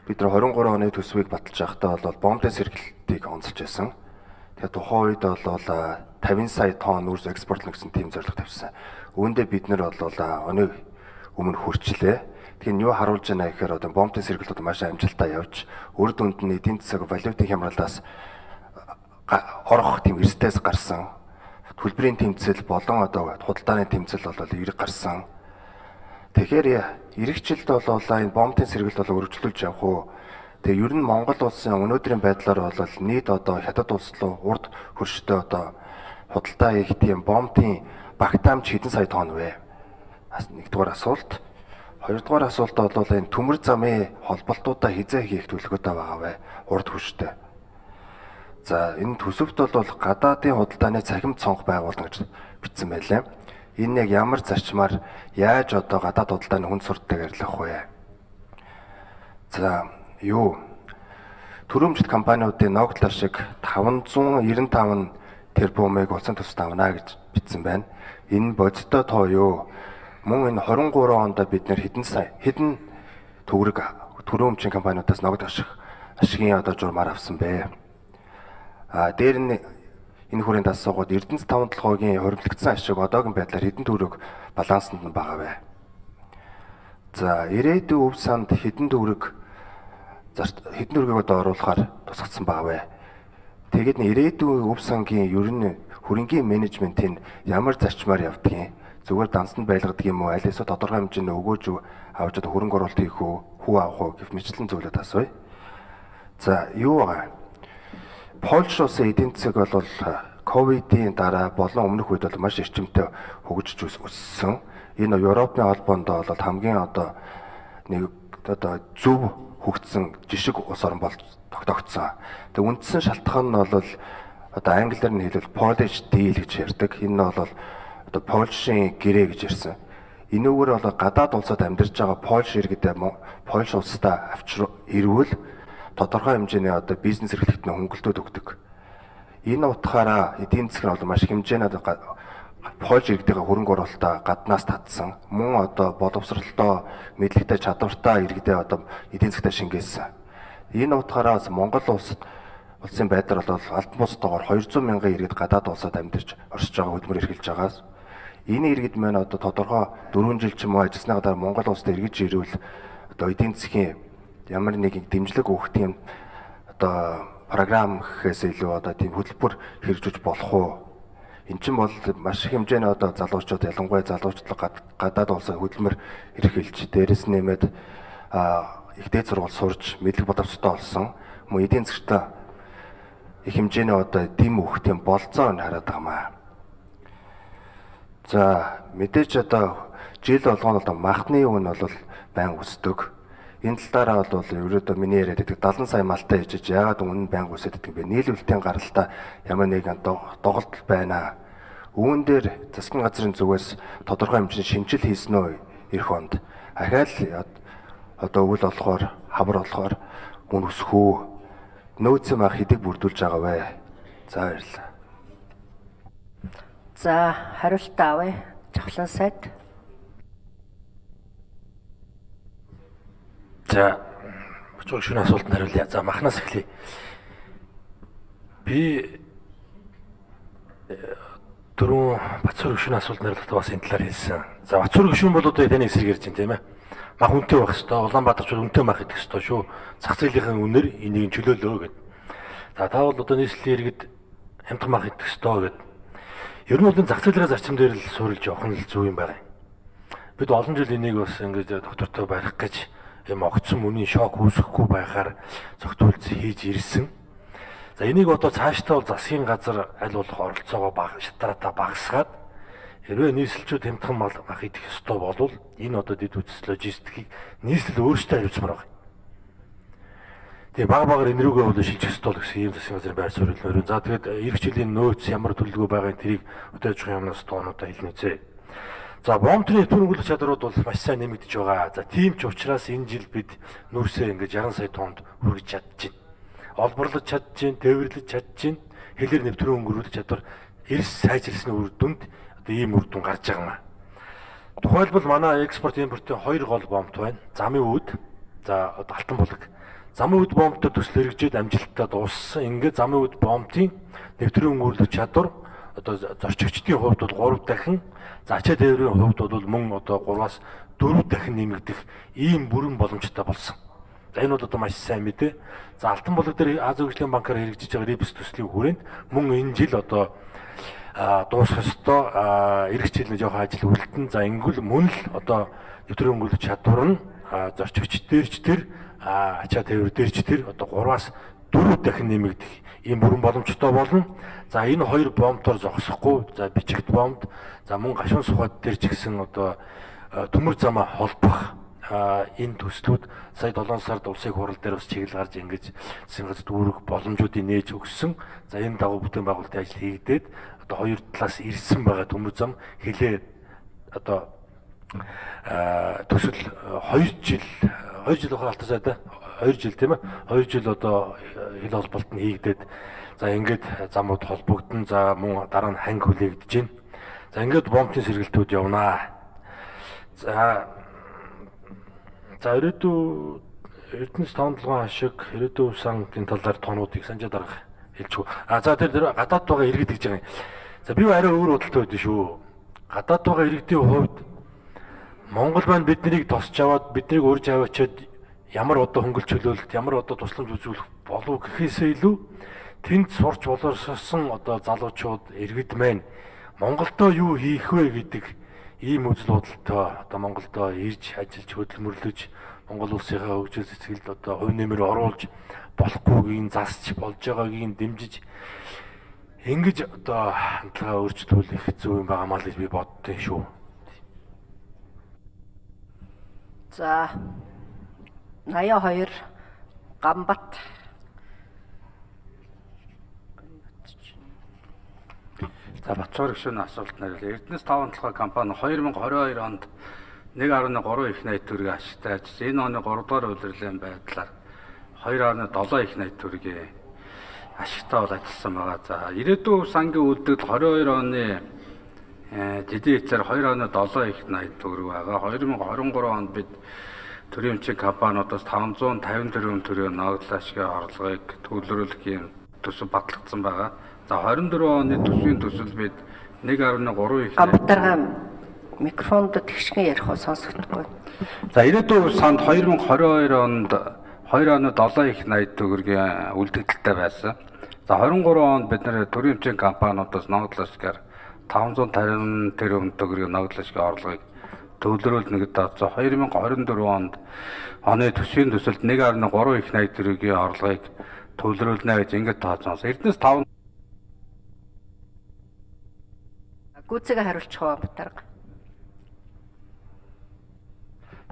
бид нар 23 оны төсвийг баталж байхдаа бол бомбын сэргэлтийг онцолж байсан. Тэгэхээр тухайн үед бол 50 сая тонн үрс экспортлно гэсэн тийм зорилго тавьсан. Үүндээ бид нар бол оны өмнө хүрчлээ. Тэгэхээр юу харуулж байна гэхээр одоо бомбын сэргэлт маш амжилттай явж үр дүнд нь эдийн засаг валютын хямралаас орох тийм эрсдээс гарсан. Төлбөрийн тэмцэл болон одоо худалдааны тэмцэл бол эрг гарсан. Тэгэхээр эх жилд бол энэ бомбын сэргэлт бол өргөжлүүлж явах уу. Тэгээ ер нь Монгол улсын өнөөдрийн байдлаар бол нийт одоо хятад улс руу урд хөрштэй одоо худалдаа хийх тийм бомбын багтаамж хэдэн сая тонн вэ? Нэгдүгээр асуулт. Хоёрдугаар асуулт бол энэ төмөр замын холболтуудаа хизээ хийх төлөвлөгөөтэй байгаа вэ? Урд хөрштэй. За энэ төсөвт бол гадаадын худалдааны цахим цонх байгуулна гэж бичсэн байлаа. Энэ яг ямар зарчмаар яаж одоо гадаад худалдааны хүнд сурталчилгааг арилгах вэ? За төрөмжит компаниудын ногдлол шиг 595 тэрбумыг улсын төсөвт авна гэж бичсэн байна. Энэ бодиттой тоо юу? Мөн энэ 23 онд бид нэр хэдэн төгрөг төрөмжийн компаниудаас ногд ашигын одоо журмаар авсан бэ? Дээр нь энэ хүрээнд асуугаад Эрдэнэс 5 толгойн хоригдлогдсон ашиг одоогийн байдлаар хэдэн төгрөг балансанд нь байгаа вэ? За ирээдүйн өв санд хэдэн төгрөгийг одоо оруулахаар тусгацсан байгаа вэ? Тэгээд ирээдүйн өв сангийн ер нь хөрөнгийн менежментийн ямар зарчмаар явдгийг зүгээр дансанд байлгадаг юм уу? Аль эсвэл тодорхой хэмжээний өгөөж авч одоо хөрөнгө оруулалт хийх үү, хүү авах уу гэх мэтлэн зүйлүүд асууя. За юу байгаа? Польш улсын эдийн засаг бол ковидын дараа болон өмнөх үед бол маш эрчимтэй хөгжиж өссөн. Энэ Европын холбоонд бол хамгийн одоо нэг одоо зөв хөгжсөн жишг улс орн болж тогтогдсон. Тэгээ үндсэн шалтгаан нь бол одоо англиар нь хэлбэл Polish deal гэж ярьдаг. Энэ бол одоо Польшийн гэрээ гэж ярьсан. Энэгээр бол гадаад улсад амьдарч байгаа Польш иргэдээ Польш улсдаа ирвэл тодорхой хэмжээний одоо бизнес эрхлэлтний хөнгөлтөд өгдөг. Энэ утгаараа эдийн засаг нь бол маш хэмжээний Польш иргэдийн хөрөнгө оруулалтаа гаднаас татсан. Мөн одоо боловсролтой, мэдлэгтэй, чадвартай иргэдээ одоо эдийн засгтаа шингээсэн. Энэ утгаараа Монгол улсын байдлаар бол албан бусдаагаар 200 мянган иргэд гадаад улсад амьдарч оршиж байгаа хөдөлмөр эрхэлж байгаас энэ иргэд маань одоо тодорхой 4 жил ч юм уу ажилласны гадаар Монгол улсад эргэж ирвэл одоо эдийн засгийн ямар нэгэн дэмжлэг өгөх тийм одоо програм гэхээс илүү одоо тийм хөтөлбөр хэрэгжүүлж болох уу? Эн чинь бол маш их хэмжээний одоо залуучууд ялангуяа залуучууд гадаад улсаа хөдөлмөр эрхэлж дээрэс нэмээд их дээд сургууль сурж мэдлэг боловсролтой болсон. Мөн эдийн засгт их хэмжээний одоо дэм өгөх тийм болцоо нь хараад байгаамаа. За мэдээж одоо жил болгоно одоо махны үн бол байн өсдөг. Энэ талаараа бол ерөөдөө миний яриад байдаг 70 сая малтай ижиж яагаад үнэн байнга өсөд байдаг юм бэ? Нийлүүлэлтийн гаралтай ямар нэгэн доголдол байна. Үүн дээр засгийн газрын зүгээс тодорхой хэмжээний шинжил хийсэн үү эх онд? Ахаал одоо өвөл болохоор хавар болохоор үн өсөх үү? Нөөцийн мах хэдэг бүрдүүлж байгаа вэ? За баярлалаа. За хариулт авъя. Жавхлан сайд. За бочоо шөнө асуултанд хариулъя. За махнаас эхлэе. Би дөрөв Бацуур гүшүүн асуултанд хариулахдаа бас энэ талаар хэлсэн. За Бацуур гүшүүн бол одоо таны эсрэг ярьж байна тийм ээ. Мах үнэтэй байх хэвээр. Улаанбаатарч бол үнэтэй мах идэх хэвээр шүү. Зах зээлийн үнээр энийг чөлөөлөө гэдэг. За та бол одоо нийслэлийн иргэд хямдхан мах идэх хэвээр гэдэг. Ер нь бол энэ зах зээлийн зарчим дээр л суурилж явах нь л зөв юм байна. Бид олон жил энийг бас ингэж доктортой барих гэж юм огцсон мөний шок үүсэхгүй байхаар зөвтгүүлж хийж ирсэн. За энийг одоо цаашдаа бол засгийн газар аль болох оролцоогоо шатаратаа багасгаад хэрвээ нийслэлчүүд хямдхан мах идэх ёстой болвол энэ одоо дэд үтс логистикийг нийслэл өөрсдөө хариуцмаар байна. Тэгээ баг энэрүүгээ бол шилжих ёстой гэсэн ийм засгийн газрын байр суурь хэлмээр. За тэгээд эх жилийн нөөц ямар төлөвлөгөө байгаа тэрийг өдөөж явах юмнаас тоонуудаа хэлнэзээ. За бомбны түрнгүүлэх чадрууд бол маш сайн нэмэгдэж байгаа. За тийм ч учраас энэ жил бид нүүрсээ ингэж 60 сая тоннд хүргэж чадчихэв. Олборлож чадчихэв, тээвэрлэж чадчихэв, хэлээр нэвтрэн өнгөрүүлэх чадвар эрс сайжирсны үр дүнд одоо ийм үр дүн гарч байгаа юм. Тухайлбал манай экспорт импортын хоёр гол бомбт байна. Замын үүд, за алтан булаг. замын үд бомбтой төсөл хэрэгжээд амжилттай дууссан. Ингээд замын үд бомбын нэвтрэн өнгөрлөх чадвар одоо зорчигчдын хувьд бол 3 дахин, за ачаа тээврийн хувьд бол мөн одоо 3-аас 4 дахин нэмэгдэх ийм бүрэн боломжтой болсон. За энэ бол одоо маш сайн мэдээ. За Алтан булаг дээр Азийн хөгжлийн банкаар хэрэгжиж байгаа RIPS төслийн хүрээнд мөн энэ жил одоо дуусах ёстой эх жилийн жоохон ажил үргэлтэн. За ингүүл мөн л одоо нэвтрэн өнгөрлөх чадвар нь зорчигч дээрч тэр ачаа тээвэр дээрч тэр одоо 3-аас 4 дахин нэмэгдэх ийм бүрэн боломжтой болно. За энэ хоёр бомбтоор зогсохгүй. За бичигт бомбд, за мөн гашуун сухад дээр ч гэсэн одоо төмөр замаа холбох энэ төслүүд сая 7 сард улсын хурал дээр бас чиглэл гарч ингэж засгийн дүүрэх боломжуудыг нээж өгсөн. За энэ дагуу бүтээн байгуулалтын ажил хийгдээд одоо хоёр талаас ирсэн байгаа төмөр зам хэлээ одоо төсөл 2 жил ахалтаа сайдаа 2 жил тийм ээ 2 жил одоо хил холболт нь хийгдээд за ингээд замууд холбогдсон. За мөн дараа нь ханги хүлээгдэж байна. За ингээд бомбын сэргэлтүүд явнаа. За ирээдүйн Эрдэнэс 5-7 ашиг ирээдүйн сангийн талаар тоонуудыг санжаа дарга хэлчихв. За тэр гадаад байгаа иргэд гэж байгаа юм. За би арай өөр бодолтой байдсан шүү. Гадаад байгаа иргэдийн хувьд Монгол маань биднийг тосч аваад биднийг урьж аваачаад ямар одоо хөнгөлт чөлөөлөлт, ямар одоо тусламж үзүүлэх болов гэхээсээ илүү тэнд сурч боловсрсон одоо залуучууд иргэд маань Монголдоо юу хийх вэ гэдэг ийм үзэл бодолтой одоо Монголдоо ирж ажиллаж хөдөлмөрлөж Монгол улсынхаа хөгжил цэцгэлд одоо хувь нэмэр оруулж болохгүйг засч болж байгаагийг дэмжиж ингэж одоо хандлагаа өөрчлүүлэх зөв юм байгаамаа л гэж би боддیں۔ Шүү. За 82 Гамбат. За Батчуур гишүүний асуулт нь Эрдэнэс 5-7 компани 2022 онд 1.3 их найт төгрөгийн ашигтай ажилласан. Энэ оны 3 дугаар улирлын байдлаар 2.7 их найт төгрөгийн ашигтай бол ажилласан байгаа. За ирээдүйн сангийн үйлдэл 22 оны дэдийн эцээр 2.7 их найт төгрөг байгаа. 2023 онд бид төрийн өмчийн компаниудаас 550 тэрбум төгрөгийн ногдлын ашигын орлогыг төвлөрүүлэх юм төсөв батлагдсан байгаа. За 24 оны төсвийн төсөл бид 1.3 их Гамбатарга микрофонд тэгшгэн ярих уу сонсогдохгүй. За ирээдүйн санд 2022 онд 2.7 их найт төгрөгийн үлдэгдэлтэй байсан. За 23 онд бид нэр төрийн өмчийн компаниудаас ногдлын ашигаар 550 тэрбум төгрөгийн ногдлын ашигын орлогыг төвлөрүүлнэ гэдэг. За 2024 онд оны төсвийн төсөлд 1.3 их найт төгрөгийн орлогыг төвлөрүүлнэ гэж ингэж тооцсон. Эрдэнэс 5 Гүцэгээ хариулчих уу Батарга.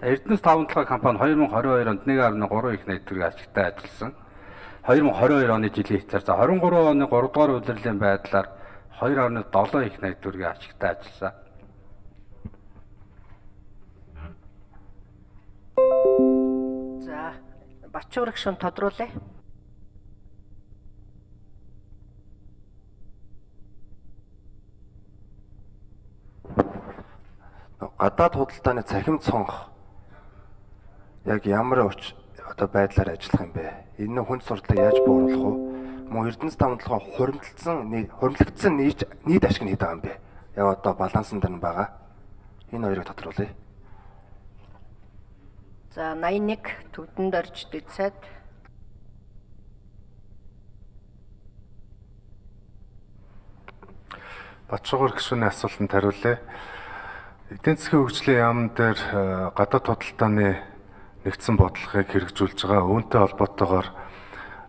Эрдэнэс 5-7 компани 2022 онд 1.3 их найт төгрөгийн ашигтай ажилласан. 2022 оны жилийн эцээр за 23 оны 3 дугаар улирлын байдлаар 2.7 их найт төгрөгийн ашигтай ажилласан. За Батчуур гишүүн тодруулъя. Гадаад худалдааны цахим цонх яг ямар одоо байдлаар ажиллах юм бэ? Энэ хүнд сурдлыг яаж бууруулах вэ? Мөн Эрдэнэс 5-7 хуримтлагдсан нийт ашиг нь хэд байгаа юм бэ? Яг одоо балансан дээр нь байгаа. Энэ хоёрыг тодруулъя. За 81 Төвдөнд орж дэцээд Батчуур гишүүний асуултанд хариулъя. Эдийн засгийн хөгжлийн яам дээр гадаад худалдааны нэгдсэн бодлогыг хэрэгжүүлж байгаа. Үүнтэй холбоотойгоор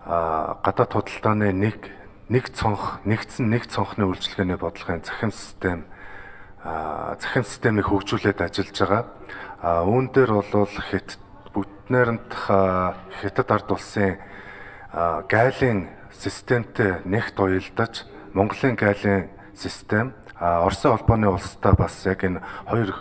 гадаад худалдааны нэг цонхны үйлчилгээний бодлогын захин системийг хөгжүүлээд ажиллаж байгаа. Үүн дээр бол бүтнээрэнт Хятад ард улсын гайлын системтэй нэгт уялдаж Монголын гайлын систем Оросын холбооны улстай бас яг энэ хоёр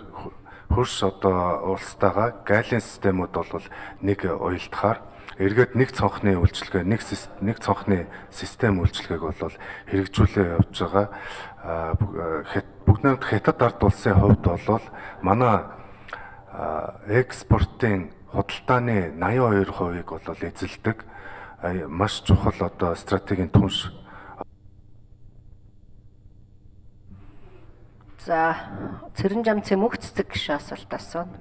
хөрш одоо улстайгаа гайлын системүүд бол нэг уялдахаар эргээд нэг цонхны үйлчилгээ нэг цонхны систем үйлчилгээг бол хэрэгжүүлээ явж байгаа. Бүгд Хятад ард улсын хувьд бол манай экспортын худалдааны 82%-ийг бол эзэлдэг маш чухал одоо стратегийн түнш. За, Цэрэн Жамцын мөнх цэцэг гişүн асуулт асууна.